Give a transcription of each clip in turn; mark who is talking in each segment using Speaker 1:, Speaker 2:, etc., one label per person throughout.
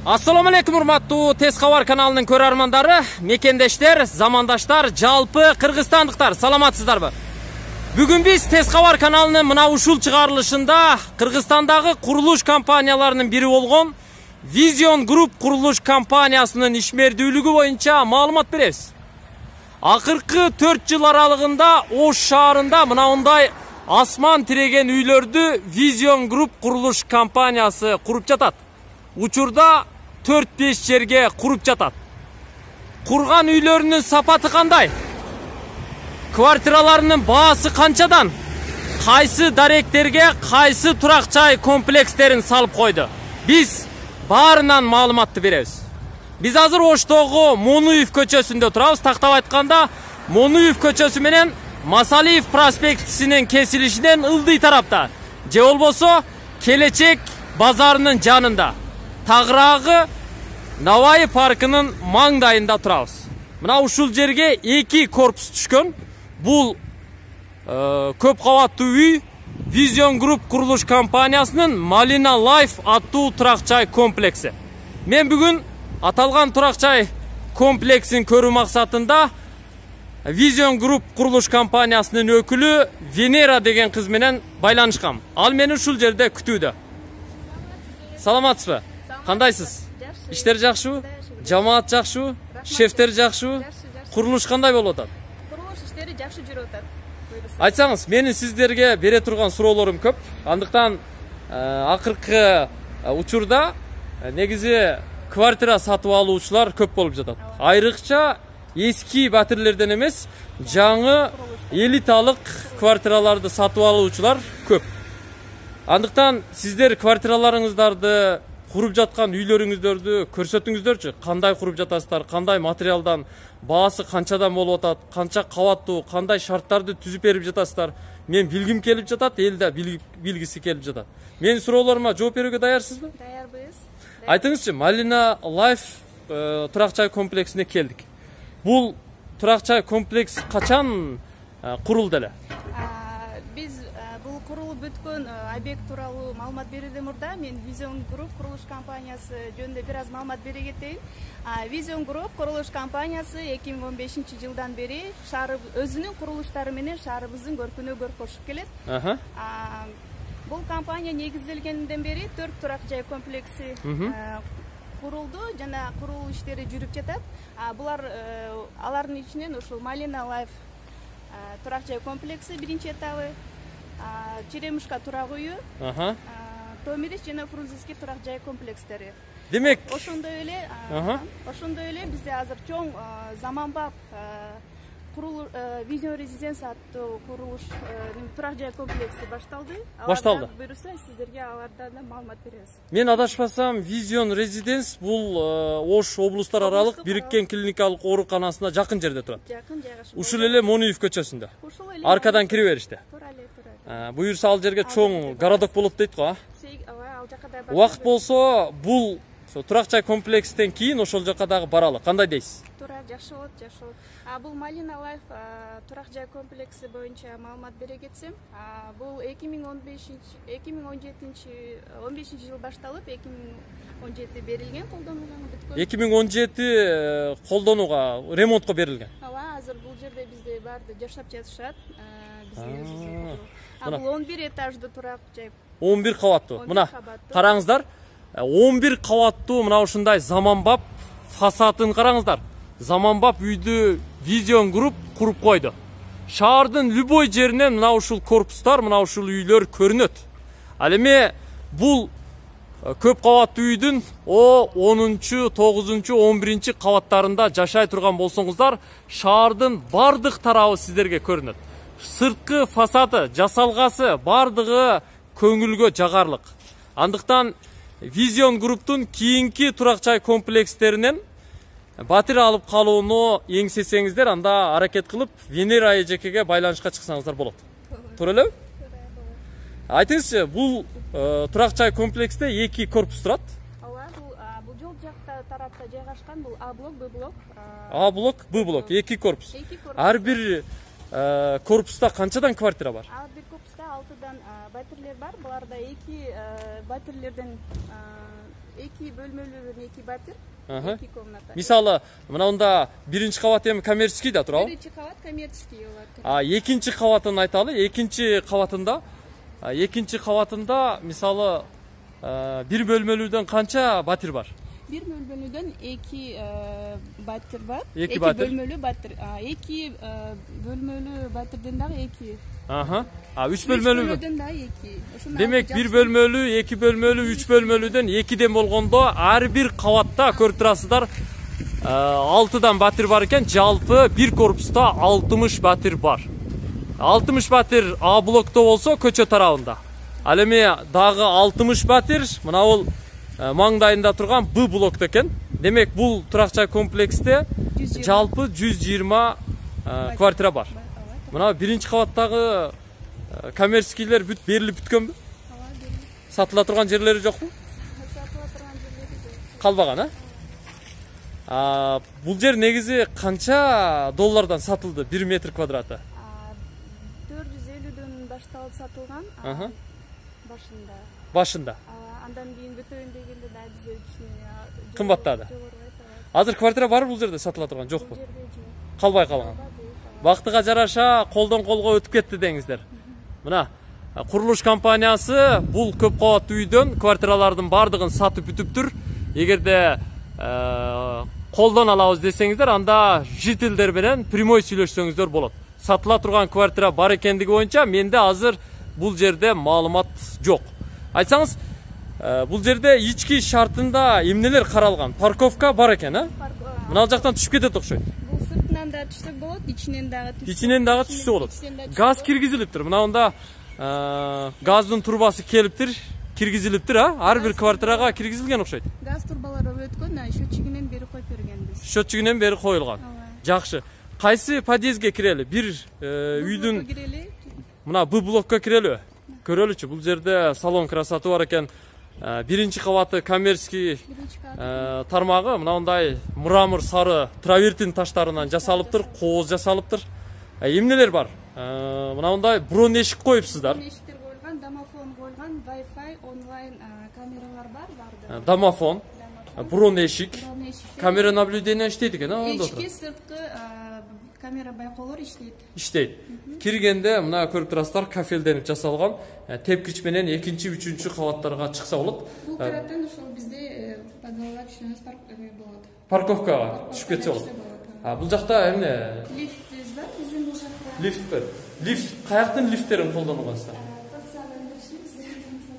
Speaker 1: Assalomu alaykum урматтуу Tez Xabar kanalынын көрөрмандары, мекендештер, замандаштар, жалпы кыргызстандыктар, саламатсыздарбы? Бүгүн биз Tez Xabar каналынын мына ушул чыгарылышында Кыргызстандагы курулуш компанияларынын бири болгон Vision Group курулуш компаниясынын ишмердүүлүгү боюнча маалымат беребиз. Акыркы 4 жыл аралыгында Ош шаарында мындай асман тиреген үйлөрдү Vision Group курулуш компаниясы куруп жатат. Учурда 4-5 жерге куруп жатат. Курган үйлөрүнүн сапаты кандай? Квартираларынын баасы канчадан? Кайсы даректерге кайсы турак жай комплекстерин салып койду? Биз баарынан маалыматты беребиз. Биз азыр Оштогу Монуев көчөсүндө турабыз. Тактап айтканда, Монуев көчөсү менен Масалиев проспектисинин кесилишинен ылдый тарапта, же болбосо Келечек базарынын жанында. Тагыраагы Навай паркынын маңдайында турабыз. Мына ушул жерге 2 корпус түшкөн. Бул көп кабаттуу үй Vision Group курулуш компаниясынын Malina Life аттуу турак жай комплекси. Мен бүгүн аталган турак жай комплексин көрүү максатында Vision Group курулуш компаниясынын өкүлү Венера деген кыз менен байланышкам. Ал мени ушул жерде күтүүдө. Саламатсызбы? Кандайсыз? Иштер жакшыбы? Жамаат жакшыбы? Шефтер жакшыбы? Курулуш кандай болуп атат?
Speaker 2: Курулуш иштери жакшы жүрүп атат.
Speaker 1: Айтсаңыз, менин сиздерге бере турган суроолорум көп. Андыктан акыркы учурда негизи квартира сатып алуучулар көп болуп жатат. Айрыкча эски батирлерден эмес, жаңы элиталык квартираларды сатып алуучулар көп. Андыктан сиздер квартираларыңыздарды, куруп жаткан үйлөрүңүздөрдү көрсөтүңүздөрчү. Кандай куруп жатасыздар, кандай материалдан, баасы канчадан болуп атат, канча кабаттуу, кандай шарттарды түзүп берип жатасыздар. Мен билгим келип жатат, эл да билгиси келип жатат. Менин суроолорума жооп берүүгө даярсызбы?
Speaker 2: Даярбыз.
Speaker 1: Айтыңызчы, Malina Life турак жай комплексине келдик. Бул турак жай комплекс качан курулду эле?
Speaker 2: Биз бул курулуп бүткөн объект тууралуу маалымат берүүдөн мурда мен Vision Group курулуш компаниясы жөнүндө бир аз маалымат бере кетейин. Vision Group курулуш компаниясы 2015-жылдан бери шаар өзүнүн курулуштары менен шаарыбыздын көркүнө кошуп келет. Бул компания негизделгенден бери 4 турак жай комплекси курулду жана куруу иштери жүрүп жатат. Алардын ичинен ушул Malina Life турак жай комплекси биринчи этабы, Черемушка турак үйү, Томирис жана Фрунзенский турак жай комплекстери.
Speaker 1: Демек,
Speaker 2: ошондой эле бизде азыр чоң заманбап Vision Residence аттуу курулуш турак жай комплекси башталды.
Speaker 1: Башталды.
Speaker 2: Буюрса, сиздерге алардан да маалымат беребиз.
Speaker 1: Мен адашпасам, Vision Residence бул Ош облустар аралык бириккен клиникалык ооруканасына жакын жерде турат.
Speaker 2: Жакын жайгашып.
Speaker 1: Ушул эле Монуев көчөсүндө. Аркадан кире бериште. Буюрса ал жерге чоң городок болот дейт го, Убакыт болсо, бул турак жай комплекстен кийин ошол жака дагы баралы. Кандай дейсиз?
Speaker 2: Туура, жакшы болот, жакшы болот. Бул Malina Life турак жай комплекси боюнча маалымат бере кетсем, бул 2015 жыл башталып, 2017 берилген, колдонууга бүткөн.
Speaker 1: 2017 колдонууга, ремонтко берилген.
Speaker 2: Азыр бул жерде бизде баарды жашап жатышат. Бул 11 этаждуу турак жай. 11
Speaker 1: кабаттуу. Мына караңыздар, 11 кабаттуу мына ушундай заманбап фасадын караңыздар. Заманбап үйдү Vision Group куруп койду. Шаардын любой жеринен мына ушул корпустар, мына ушул үйлөр көрүнөт. Ал эми бул көп кабаттуу үйдүн 10-чу, 9-чу, 11-чи кабаттарында жашай турган болсоңуздар, шаардын бардык тарабы сиздерге көрүнөт. Сырткы фасады, жасалгасы бардыгы көңүлгө жагарлык. Андыктан Vision Group'тун кийинки турак жай комплекстеринен батир алып калууну эңсесеңиздер, анда аракет кылып Венера эжекеге байланышка чыксаңыздар болот. Туура элеби? Айтыңызчы, бул турак жай комплексте 2 корпус турат.
Speaker 2: Бул жол жакта тарапта жайгашкан, бул А блок, Б блок.
Speaker 1: А блок, Б блок, 2 корпус. Ар бир корпуста канчадан квартира бар?
Speaker 2: Ар бир корпуста 6дан батирлер бар. Буларда 2 батирлерден 2 бөлмөлүү 2 батир, 2 комната.
Speaker 1: Мисалы, мынанда биринчи кабат эми коммерческий да турабы?
Speaker 2: Биринчи кабат коммерческий болот.
Speaker 1: Экинчи кабатын айталы. Экинчи кабатында мисалы бир бөлмөлүүдөн канча батир бар?
Speaker 2: Бир бөлмөлүүдөн 2 батир бар.
Speaker 1: 2
Speaker 2: бөлмөлүү батир. 2 бөлмөлүү батирден дагы 2.
Speaker 1: 3 бөлмөлүүдөн
Speaker 2: дагы 2.
Speaker 1: Демек 1 бөлмөлүү, 2 бөлмөлүү, 3 бөлмөлүүдөн 2ден болгондо ар бир кабатта көрүп турасыздар 6дан батир бар экен. Жалпы бир корпуста 60 батир бар. 60 батир А блокто болсо көчө тарабында. Ал эми дагы 60 батир мына бул маңдайында турган Б блокто экен. Демек бул турак-жай комплексте жалпы 120 квартира бар. Мына биринчи кабаттагы коммерческийлер берилип бүткөнбү? Сатыла турган жерлери жокпу?
Speaker 2: Сатыла турган жерлери жок.
Speaker 1: Калбаган, Бул жер негизи канча доллардан сатылды 1 метр квадраты?
Speaker 2: 450дөн башталып сатылган
Speaker 1: башында.
Speaker 2: Андан кийин бүтөйүн дегенде да бизге
Speaker 1: кымбаттады. Азыр квартира бар бул жерде сатыла турган жокпу? Калбай калган. Вактыга жараша колдон колго өтүп кетти деңиздер. Мына курулуш компаниясы бул көп кабаттуу үйдөн квартиралардын бардыгын сатып бүтүптүр. Эгерде колдон алабыз десеңиздер, анда жителдер менен прямой сүйлөшсөңүздөр болот. Сатыла турган квартира бар экендиги боюнча менде азыр бул жерде маалымат жок. Айтсаңыз, бул жерде ички шартында эмнелер каралган? Парковка бар экен, Мына жактан түшүп кетет окшойт.
Speaker 2: Бул сыртынан да түшсө болот, ичинен
Speaker 1: дагы түшсө болот. Газ киргизилиптир. Мына газдын турбасы келиптир, киргизилиптир, Ар бир квартирага киргизилген окшойт.
Speaker 2: Газ турбалары өткөн, счетчигинен бери коюп бергенбиз.
Speaker 1: Счетчигинен бери коюлган. Жакшы. Кайсы подъездге кирели? Бир үйдүн мына Б блокко кирелби? Көрөлүчү, бул жерде салон красоты бар экен. Биринчи кабаты коммерческий тармагы мындай мрамор сары травертин таштарынан жасалыптыр, кооз жасалыптыр. Эмнелер бар? Мындай брон эшик коюпсуздар.
Speaker 2: Эшиктер коюлган, домофон коюлган, Wi-Fi, онлайн камералар бар.
Speaker 1: Домофон, брон эшик, камера наблюдения иштейт экен,
Speaker 2: Ички сырткы камера байкоолор
Speaker 1: иштейт. Киргенде мына көрүп турасыздар, кафелденип жасалган. Тепкич менен 2-3 кабаттарга чыкса болот.
Speaker 2: Бул тараптан ошол бизде подвалга түшүнөбүз, болот.
Speaker 1: Парковкага түшүп кетсе болот. Бул жакта эмне?
Speaker 2: Лифтибиз бар, биздин бул жакта.
Speaker 1: Лифт бар. Лифт каяктын лифттерин колдонуңуздар?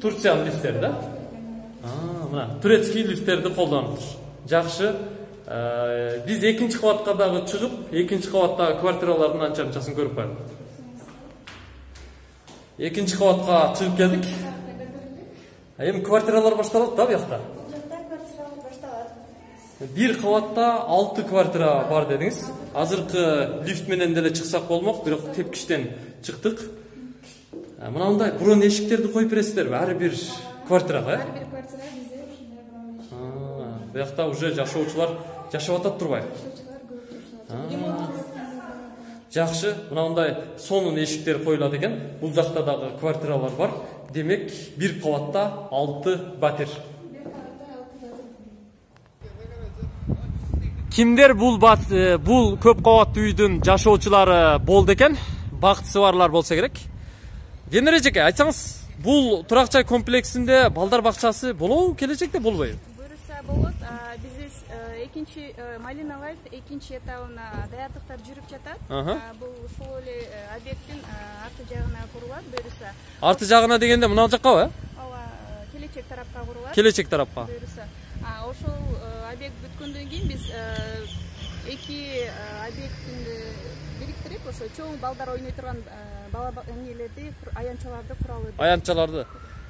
Speaker 1: Турциянын лифттери да? Мына турецкий лифттерди колдонуптур. Жакшы. Биз экинчи кабатка дагы чыгып, экинчи кабаттагы квартиралардын анча-мынчасын көрүп коелук. Экинчи кабатка чыгып келдик. Эми квартиралар башталат да буякта?
Speaker 2: Бул жакта квартиралар башталат.
Speaker 1: Бир кабатта 6 квартира бар дедиңиз. Азыркы лифт менен деле чыксак болмок, бирок тепкичтен чыктык. Мындай брон эшиктерди коюп бересиздерби ар бир квартирага?
Speaker 2: Ар бир квартира бизде ушундай брон эшик.
Speaker 1: Буякта уже жашоочулар жашап атат турбайбы? Жакшы, мындай сонун эшиктер коюлат экен. Бул жакта дагы квартиралар бар. Демек, бир кабатта 6 батир. Кимдер бул көп кабаттуу үйдүн жашоочулары болду экен? Бактысы барлар болсо керек. Генер эжеке, айтсаңыз, бул турак-жай комплексинде балдар бакчасы болобу, келечекте болбойбу?
Speaker 2: Буюрса болот. Биз экинчи Малина Лайф экинчи этабына даярдыктар жүрүп жатат. Бул ушул эле объекттин арты жагына курулат, буюрса.
Speaker 1: Арты жагына дегенде мына жаккабы?
Speaker 2: Ооба, келечек тарапка курулат.
Speaker 1: Келечек тарапка.
Speaker 2: Буюрса. Ошол объект бүткөндөн кийин биз эки объекттин бириктирип, ошо чоң балдар ойной турган аянтчаларды куралы.
Speaker 1: Аянтчаларды.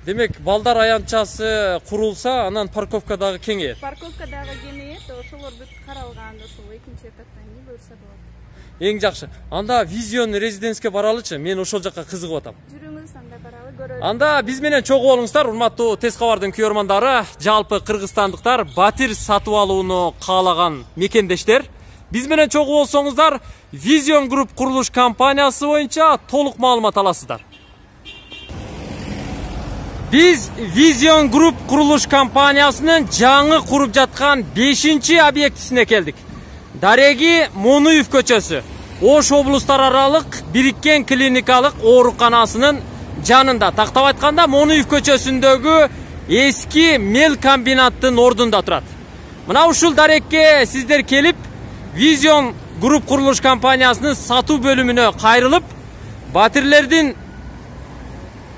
Speaker 1: Демек, балдар аянтчасы курулса, анан парковка дагы кеңейет.
Speaker 2: Парковка дагы кеңейет, ошолор бүт каралган, ошол экинчи этаптан кийин буюрса болот.
Speaker 1: Эң жакшы. Анда визион резиденске баралычы, мен ошол жакка кызыгып атам.
Speaker 2: Жүрүңүз, анда баралы, көрөлү.
Speaker 1: Анда биз менен чогуу болуңуздар, урматтуу Тез кабардын көрөрмандары, жалпы кыргызстандыктар батир сатып алууну каалаган мекендештер. Биз менен чогуу болсоңуздар, Vision Group курулуш компаниясы боюнча толук маалымат аласыздар. Биз Vision Group курулуш компаниясынын жаңы куруп жаткан 5-чи объектисине келдик. Дареги Монуев көчөсү. Ош облустар аралык бириккен клиникалык ооруканасынын жанында. Тактап айтканда Монуев көчөсүндөгү эски мел комбинаттын ордунда турат. Мына ушул дарекке сиздер келип, Vision Group курулуш компаниясынын сатуу бөлүмүнө кайрылып, батирлердин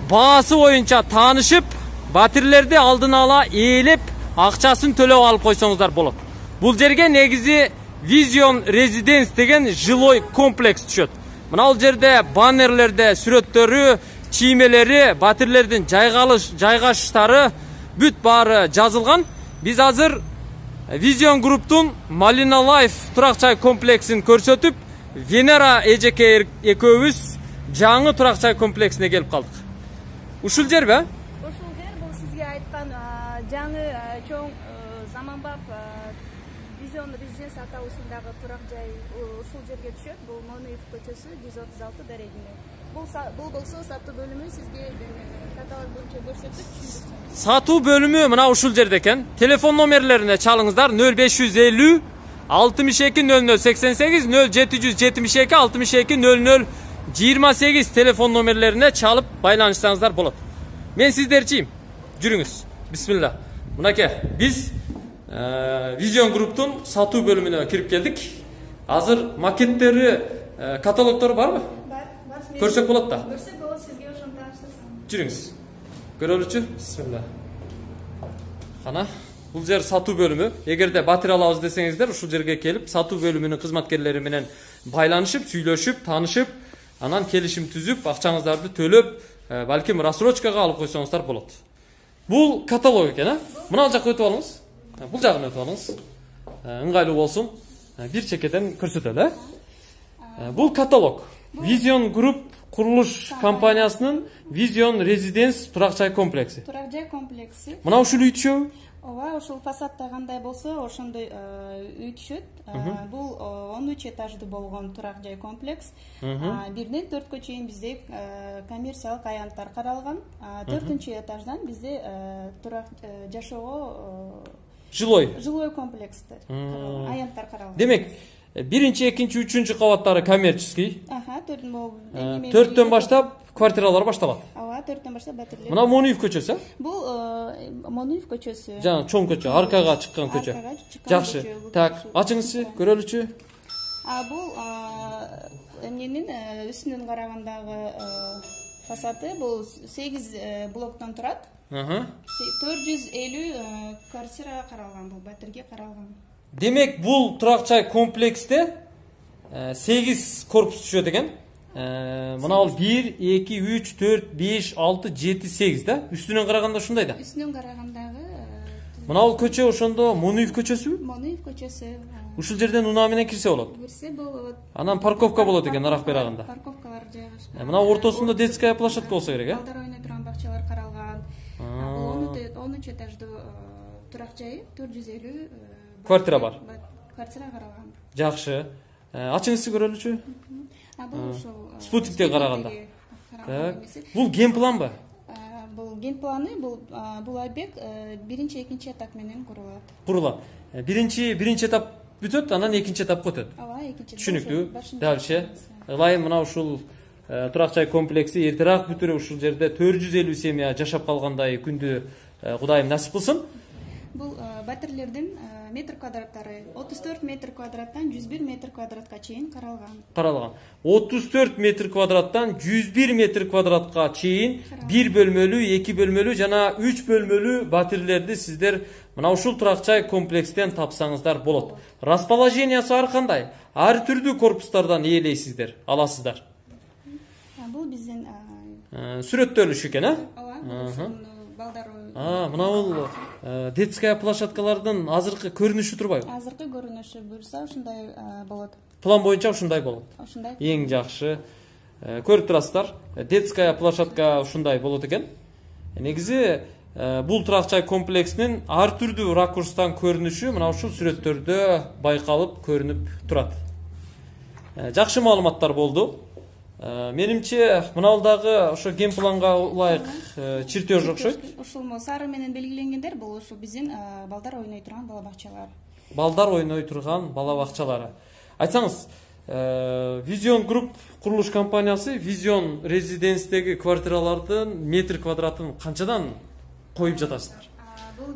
Speaker 1: баасы боюнча таанышып, батирлерди алдын ала ээлеп, акчасын төлөп алып койсоңуздар болот. Бул жерге негизи Vision Residence деген жилой комплекс түшөт. Мына бул жерде баннерлерде сүрөттөрү, чиймелери, батирлердин жайгашыштары бүт баары жазылган. Биз азыр Vision Group'тун Malina Life турак жай комплексин көрсөтүп, Венера эжеке экөөбүз жаңы турак жай комплексине келип калдык. Ушул жерби?
Speaker 2: Ушул жер бул сизге айткан жаңы чоң заманбап Vision Residence аталышындагы турак жай ушул жерге түшөт. Бул Монуев көчөсү 136 дарегинде. Бул болсо сатуу бөлүмү сизге каталог боюнча көрсөтүп түшүндүрсөм.
Speaker 1: Сатуу бөлүмү мына ушул жерде экен. Телефон номерлерине чалыңыздар 0550 62 00 88 0772 62 00 28 телефон номерлерине чалып байланышсаңыздар болот. Мен сиздерчийим. Жүрүңүз. Бисмилла. Мынакей, биз Vision Group'тун сатуу бөлүмүнө кирип келдик. Азыр макеттери, каталогдору барбы?
Speaker 2: Бар.
Speaker 1: Көрсөк болот да.
Speaker 2: Көрсөк болот, сизге ошону тааныштырсам.
Speaker 1: Жүрүңүз. Көрөлүчү. Бисмилла. Кана, бул жер сатуу бөлүмү. Эгерде батир алабыз десеңиздер, ушул жерге келип, сатуу бөлүмүнүн кызматкерлери менен байланышып, сүйлөшүп, таанышып, анан келишим түзүп, акчаңыздарды төлөп, балким рассрочкага алып койсоңуздар болот. Бул каталог экен, Мына жакка өтүп алыңыз. Бул жагын өтүп алыңыз. Ыңгайлуу болсун. Бир чекеден көрсөтөлү, Бул каталог. Vision Group курулуш компаниясынын Vision Residence турак жай комплекси.
Speaker 2: Турак жай комплекси.
Speaker 1: Мына ушул үй түшөбү?
Speaker 2: Ооба, ушул фасадда кандай болсо, ошондой үй түшөт. Бул 13 этаждуу болгон турак жай комплекс. 1-ден 4кө чейин бизде коммерциялык аянттар каралган. 4-этаждан бизде турак жашоого жилой комплекстер каралган, аянттар каралган.
Speaker 1: Демек, 1-чи, 2-чи, 3-чү кабаттары коммерческий.
Speaker 2: 4төн
Speaker 1: баштап квартиралар башталат.
Speaker 2: Ооба, 4төн баштап батирлер.
Speaker 1: Мына Монуев көчөсү?
Speaker 2: Бул Монуев көчөсү.
Speaker 1: Жана чоң көчө, аркага чыккан көчө. Жакшы. Так, ачыңызчы, көрөлүчү.
Speaker 2: Бул эмненин үстүнөн карагандагы фасады бул 8 блоктон турат. 450 квартира каралган, бул батирге каралган.
Speaker 1: Демек, бул турак жай комплексте 8 корпус түшөт экен. Мына бул 1, 2, 3, 4, 5, 6, 7, 8 да? Үстүнөн караганда ушундай да?
Speaker 2: Үстүнөн карагандагы.
Speaker 1: Мына бул көчө ошондо Монуев көчөсүбү?
Speaker 2: Монуев көчөсү.
Speaker 1: Ушул жерден унаа менен кирсе болот.
Speaker 2: Кирсе болот.
Speaker 1: Анан парковка болот экен арак берагында.
Speaker 2: Парковкалар жайгашкан.
Speaker 1: Мына ортосунда детская площадка болсо керек,
Speaker 2: Балдар ойной турган бакчалар каралган. Бул 13 этаждуу турак жайы 450
Speaker 1: квартира бар.
Speaker 2: Квартира каралган.
Speaker 1: Жакшы. Ачыңызчы көрөлүчү?
Speaker 2: Бул ошол
Speaker 1: спутниктен караганда. Так. Бул ген планбы?
Speaker 2: Бул ген планы, бул объект 1-чи, 2-чи этап менен
Speaker 1: курулат. Биринчи этап бүтөт, анан 2-чи этапка өтөт.
Speaker 2: Ооба, 2-чи.
Speaker 1: Түшүнүктүү. Дальше. Ылайым мына ушул турак жай комплекси эртерээк бүтүрүп ушул жерде 450 семья жашап калгандай күндү Кудайым насип кылсын.
Speaker 2: Бул батирлердин метр квадраттары 34 метр квадраттан 101 метр квадратка чейин каралган. 34 метр квадраттан 101 метр квадратка чейин 1 бөлмөлүү, 2 бөлмөлүү жана 3 бөлмөлүү батирлерди сиздер мына ушул турак жай комплекстен тапсаңыздар болот. Расположениясы ар кандай? Ар түрдүү корпустардан ээлейсиздер, аласыздар. Бул биздин
Speaker 1: сүрөттөлүш экен,
Speaker 2: Ооба. Балдар
Speaker 1: мына бул детская площадкалардын азыркы көрүнүшү турбайбы?
Speaker 2: Азыркы көрүнүшү буюрса ушундай болот.
Speaker 1: План боюнча ушундай болот.
Speaker 2: Ушундай.
Speaker 1: Эң жакшы. Көрүп турасыздар, детская площадка ушундай болот экен. Негизи бул турак жай комплексинин ар түрдүү ракурстан көрүнүшү мына ушул сүрөттөрдө байкалып көрүнүп турат. Жакшы маалыматтар болду. Менимче мынау дагы ошо геймпланга ылайык чертеж окшойт.
Speaker 2: Ушул сары менен белгиленгендер бул ушул биздин балдар ойной турган бала бакчалар.
Speaker 1: Балдар ойной турган бала бакчалары. Айтсаңыз, Vision Group курулуш компаниясы Vision Residence-деги квартиралардын метр квадратын канчадан коюп жатасыздар?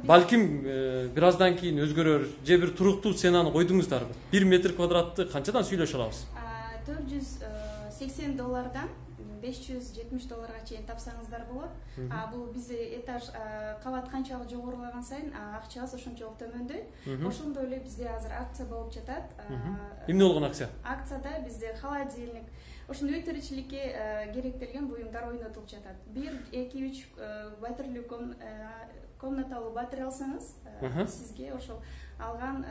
Speaker 1: Балким бир аздан кийин өзгөрөр, же бир туруктуу ценаны койдуңуздарбы? 1 метр квадратты канчадан сүйлөшө алабыз?
Speaker 2: $480 $570 чейин тапсаңыздар болот. Бул бизде этаж кабат канчалык жогорулаган сайын акчабыз ошончолук төмөндөйт. Ошондой эле бизде азыр акция болуп жатат.
Speaker 1: Эмне болгон акция?
Speaker 2: Акцияда бизде холодильник, ошондой үй тиричиликке керектелген буюмдар ойнотулуп жатат. 1, 2, 3 батирлүү комнаталуу батир алсаңыз, сизге ошол алган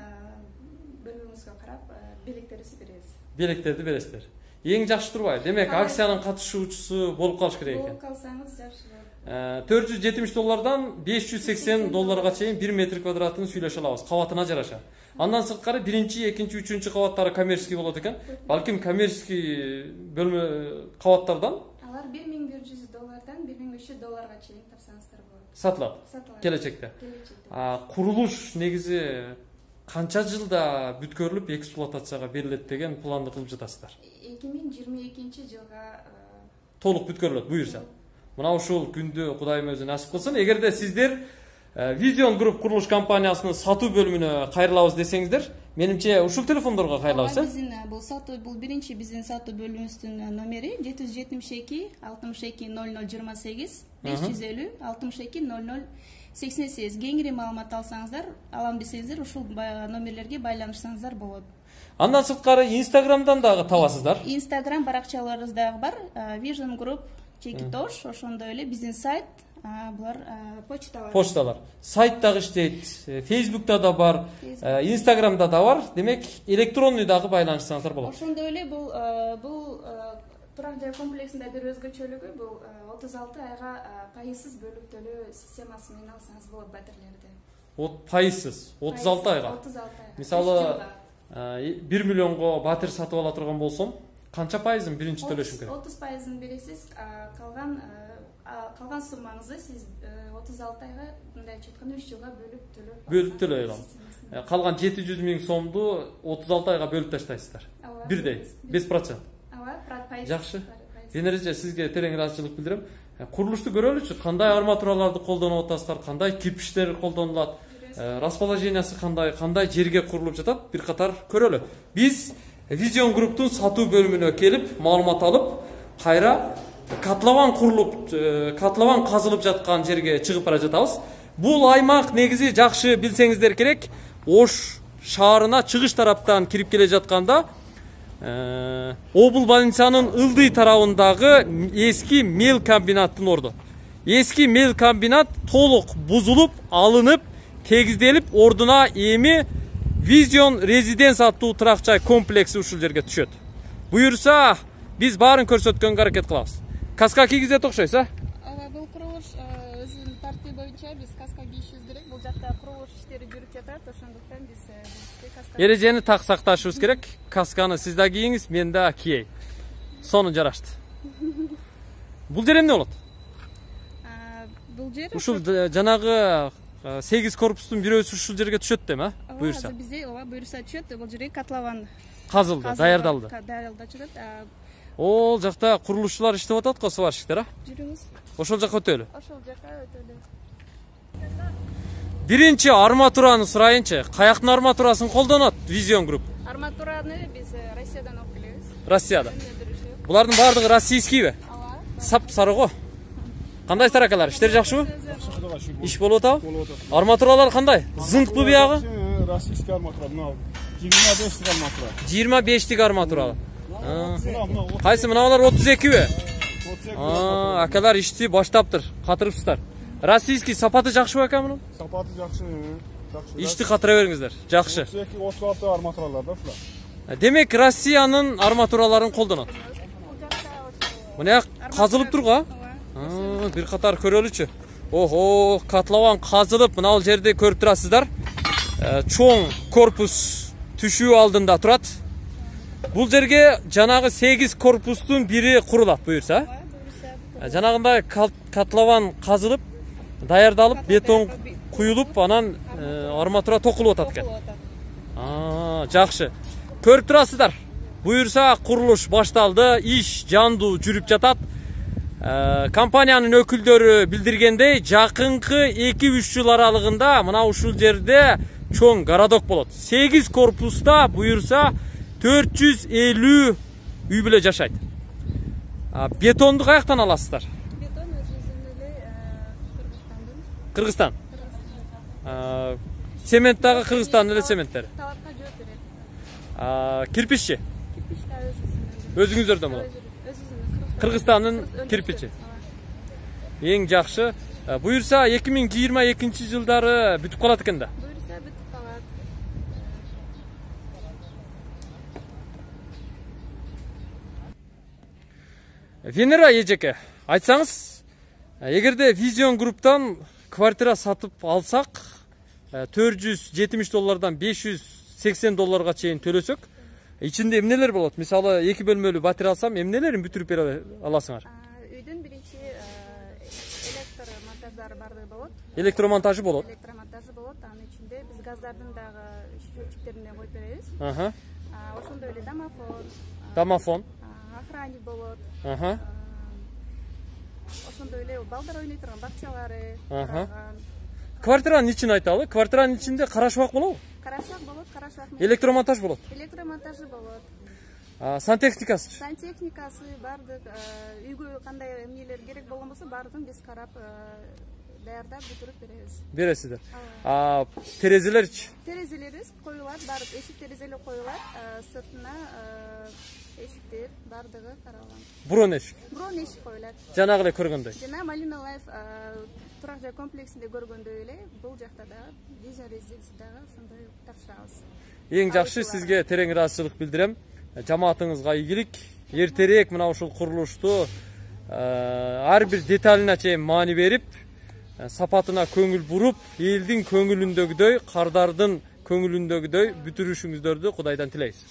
Speaker 2: бөлүгүңүзгө карап белектерди беребиз.
Speaker 1: Белектерди бересиздер. Эң жакшы турбайбы? Демек, акциянын катышуучусу болуп калыш керек экен.
Speaker 2: Болуп калсаңыз жакшы болот.
Speaker 1: $470 $580 чейин 1 метр квадратын сүйлөшө алабыз, кабатына жараша. Андан сырткары 1-чи, 2-чи, 3-чү кабаттары коммерческий болот экен. Балким коммерческий бөлмө кабаттардан
Speaker 2: алар $1100 $1500 чейин тапсаңыздар болот.
Speaker 1: Сатылат. Келечекте. Курулуш негизи канча жылда бүткөрүлүп эксплуатацияга берилет деген планды кылып жатасыздар?
Speaker 2: 2022-жылга
Speaker 1: толук бүткөрүлөт буюрса. Мына ушул күндү Кудайым өзү насип кылсын. Эгерде сиздер Vision Group курулуш компаниясынын сатуу бөлүмүнө кайрылабыз десеңиздер, менимче ушул телефондорго кайрылабыз.
Speaker 2: Биздин бул сатуу бул биринчи биздин сатуу бөлүмүбүздүн номери 772 62 00 28 550 62 00 88. Кеңири маалымат алсаңыздар, алам десеңиздер, ушул номерлерге байланышсаңыздар болот.
Speaker 1: Андан сырткары Instagramдан дагы табасыздар.
Speaker 2: Instagram баракчаларыбыз дагы бар. Vision Group Чекитош, ошондой эле биздин сайт, булар почталар. Сайт дагы иштейт, Facebook'та да бар, Instagram'да да бар. Демек, электронный дагы байланышсаңыздар болот. Ошондой эле бул турак жай комплексинде бир өзгөчөлүгү бул 36 айга пайызсыз бөлүп төлөө системасы менен алсаңыз болот батирлерди. Пайызсыз 36 айга. 36 айга. Мисалы 1 миллионго батир сатып ала турган болсом, канча пайызын биринчи төлөшүм керек? 30% бересиз, калган суммаңызды сиз 36 айга мындай айтканда 3 жылга бөлүп төлөй аласыз. Калган 700 миң сомду 36 айга бөлүп таштайсыздар. Бирдей, 5%. Жакшы. Денереже сизге терең ыраазычылык билдирем. Курулушту көрөлүчү, кандай арматураларды колдонуп атасыздар, кандай кирпичтер колдонулат, расположениясы кандай жерге курулуп жатат, бир катар көрөлү. Биз Vision Group'тун сатуу бөлүмүнө келип, маалымат алып, кайра катлаван казылып жаткан жерге чыгып бара жатабыз. Бул аймак негизи жакшы билсеңиздер керек. Ош шаарына чыгыш тараптан кирип келе жатканда Обул больницанын ылдый тарабындагы эски мел комбинаттын орду. Эски мел комбинат толук бузулуп, алынып, тегизделип, ордуна эми Vision Residence аттуу турак жай комплекси ушул жерге түшөт. Буюрса, биз баарын көрсөткөнгө аракет кылабыз. Каска кийгизет окшойсуз, Бул курулуш өзүнүн тартиби боюнча биз каска кийишибиз керек. Бул жакта курулуш иштери жүрүп жатат, ошондуктан биз каска
Speaker 1: эрежени так сакташыбыз керек. Касканы сиз да кийиңиз, мен да кийейин. Сону жарашты. Бул жер эмне болот?
Speaker 2: Бул жер
Speaker 1: ушул жанагы 8 корпустун бирөөсү ушул жерге түшөт дем, буюрса.
Speaker 2: Бизде буюрса түшөт, бул жерге катлаван
Speaker 1: казылды, даярдалды.
Speaker 2: Даярдалып жатат.
Speaker 1: Ол жакта курулушчулар иштеп атат го, сварщиктер,
Speaker 2: Жүрүңүз.
Speaker 1: Ошол жака өтөлү.
Speaker 2: Ошол жака өтөлү.
Speaker 1: Биринчи арматураны сурайынчы. Каяктын арматурасын колдонот Vision Group?
Speaker 2: Арматураны биз Россиядан алып келебиз.
Speaker 1: Россияда. Булардын баардыгы российскийби? Сап сары го. Кандай таракалар? Иштер жакшыбы? Иш болуп атабы? Арматуралар кандай? Зыңкпы биягы?
Speaker 3: Российский арматура, мына 25 арматура.
Speaker 1: 25 арматура. Кайсы мыналар 32би? Акалар ишти баштаптыр, катырыпсыздар. Российский сапаты жакшыбы экен мунун?
Speaker 3: Сапаты жакшы.
Speaker 1: Ишти катыра бериңиздер. Жакшы.
Speaker 3: 32-36 арматуралар да ушулар.
Speaker 1: Демек Россиянын арматураларын колдонот. Мына казылып турго? Бир катар көрөлүчү. Охо, катлаван казылып, мына бул жерди көрүп турасыздар. Чоң корпус түшүү алдында турат. Бул жерге жанагы 8 корпустун бири курулат буюрса. Жанагындай котлован казылып, даярдалып, бетон куюлуп, анан арматура токулуп атат экен. Жакшы. Көрүп турасыздар. Буюрса курулуш башталды, иш жандуу жүрүп жатат. Компаниянын өкүлдөрү билдиргендей, жакынкы 2-3 жыл аралыгында мына ушул жерде чоң городок болот. 8 корпуста буюрса 450 үй бүлө жашайт. Бетонду каяктан аласыздар?
Speaker 2: Бетон өзүбүздүн эле
Speaker 1: Кыргызстан. Цемент дагы Кыргызстандын эле цементтери.
Speaker 2: Талапка жооп берет.
Speaker 1: Кирпиччи?
Speaker 2: Кирпич да өзүбүздүн.
Speaker 1: Өзүңүздөрдөн болот. Кыргызстандын кирпичи. Эң жакшы. Буюрса 2022 жылдары бүтүп калат экен да.
Speaker 2: Буюрса бүтүп калат.
Speaker 1: Венера эжеке, айтсаңыз, эгерде Vision Group'тан квартира сатып алсак, $470 $580 чейин төлөсөк, ичинде эмнелер болот? Мисалы, 2 бөлмөлүү батир алсам, эмнелерин бүтүрүп бере аласыңар?
Speaker 2: Үйдүн биринчи электромонтаждары бардыгы болот.
Speaker 1: Электромонтажы болот.
Speaker 2: Электромонтажы болот. Анын ичинде биз газдардын дагы счетчиктерине коюп беребиз. Ошондой эле
Speaker 1: Домофон.
Speaker 2: Охранник болот. Ошондой эле балдар ойной турган бакчалары.
Speaker 1: Квартиранын ичин айталы. Квартиранын ичинде карашбак болобу?
Speaker 2: Карашбак болот, карашбак.
Speaker 1: Электромонтаж болот.
Speaker 2: Электромонтажы болот.
Speaker 1: Сантехникасы?
Speaker 2: Сантехникасы бардык, үйгө кандай эмнелер керек болгон болсо баардыгын биз карап даярдап бүтүрүп беребиз.
Speaker 1: Бересиздер. Терезелерчи?
Speaker 2: Терезелерибиз коюлат, баардык эшик терезелер коюлат, сыртына эшиктер бардыгы каралган.
Speaker 1: Бурон эшик?
Speaker 2: Бурон эшик коюлат.
Speaker 1: Жанагы эле көргөндөй.
Speaker 2: Жана Малина Лайф турак жай комплексинде көргөндөй эле бул жакта да Vision Residence дагы ошондой тапшырабыз.
Speaker 1: Эң жакшы, сизге терең ыраазычылык билдирем. Жамаатыңызга ийгилик. Эртерээк мына ушул курулушту ар бир деталына чейин маани берип, сапатына көңүл буруп, элдин көңүлүндөгүдөй, кардардын көңүлүндөгүдөй бүтүрүшүңүздөрдү Кудайдан тилейбиз.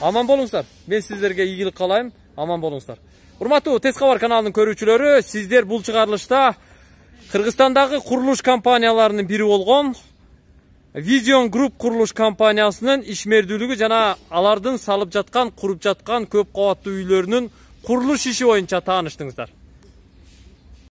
Speaker 1: Аман болуңуздар. Мен сиздерге ийгилик каалайм. Аман болуңуздар. Урматтуу Тез кабар каналынын көрүүчүлөрү, сиздер бул чыгарылышта Кыргызстандагы курулуш компанияларынын бири болгон Vision Group курулуш компаниясынын ишмердүүлүгү жана алардын салып жаткан, куруп жаткан көп кабаттуу үйлөрүнүн курулуш иши боюнча тааныштыңыздар.